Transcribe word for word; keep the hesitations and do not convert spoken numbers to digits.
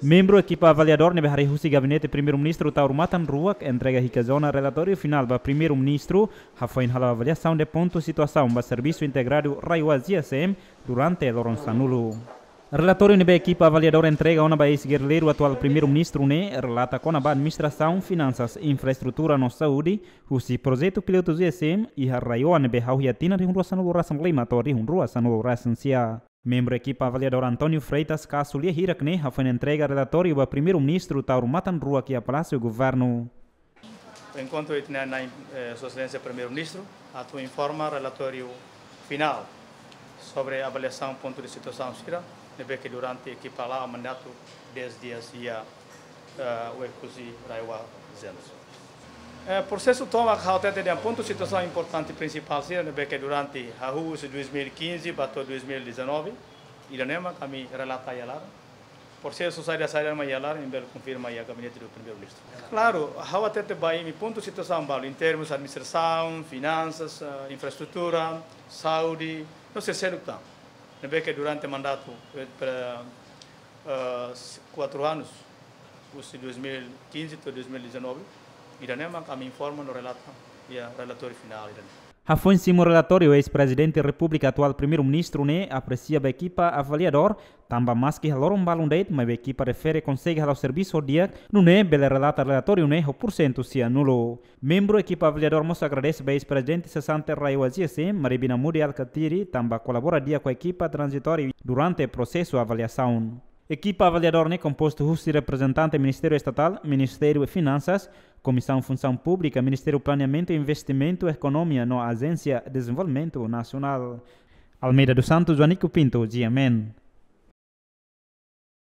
Membru ekipa avaliadór ne'ebé harii husi Gabinete Primeiru-Ministru Taur Matan Ruak entrega Hikazona relatóriu finál ba Primeiru-Ministru, hafoin halo avaliasaun de pontu situasaun ba Servisu Integradu RAEOA-GSM durante loron sanulu. Relatóriu ne'ebé ekipa avaliadór entrega ona ba eis-gerrilleiru atuál Primeiru-Ministru ne'e relata kona-ba administrasaun, finansas, infraestrutura no saúde, husi projetu pilotu GSM iha RAEOA ne'ebé hahú iha tinan rihun rua sanulu resin lima to'o rihun rua sanulu resin sia. Membru ekipa avaliadór António Freitas kazu lia hirak ne'e hafoin entrega relatóriu ba Primeiru-Ministru Taur Matan Ruak iha Palásiu Governu. Enkontru ita-nia, eh, Sua Exelénsia Primeiru-Ministru atu informa relatóriu finál sobre avaliasaun pontu de situasaun sira ne'ebé ke durante ekipa la'o mandatu dez dias iha, eh, Oekusi RAEOA-GSM. Eh, prosesu tomak ha'u hatete dehan pontu situasaun importante prinsipál sira ne'ebé ke durante hahú husi dois mil e quinze ba to'o dois mil e dezanove, ida-ne'e mak ami relata iha laran. Prosesu saida-saida mak iha laran, imi bele konfirma iha Gabinete do Primeiru-Ministru. Klaru, ha'u hatete ba imi pontu situasaun balu, em termos administrasaun, finansas, eh, infraestrutura, saúde, no seluk tan. Ne'ebé ke durante mandatu, eh, pre-, eh, kuatru anus, husi dois mil e quinze to'o dois mil e dezanove, ida-ne'e mak ami informa no relata iha relatóriu finál ida-ne'e. Hafoin simu relatóriu, eis-Prezidente Repúblika atuál Primeiru-Ministru ne'e apresia ba ekipa avaliadór, tanba maski iha loron balun de'it, maibé ekipa refere konsege halo servisu ho di'ak, nune'e bele relata relatóriu ne'e ho porsentu sianulu. Membru ekipa avaliadór mós agradese ba eis-Prezidente sesante RAEOA-GSM, Mari Binamudi Alkatiri, tanba kolabora di'ak ho ekipa tranzitóriu durante prosesu avaliasaun. Ekipa avaliadór ne'e kompostu husi reprezentante Ministériu Estatál, Ministériu Finansas, Komisaun Funsaun Públika, Ministériu Planeamentu, Investimentu, Ekonomia no Ajénsia Dezenvolvimentu Nasionál. Almeida dos Santos, Joanico Pinto, GMN.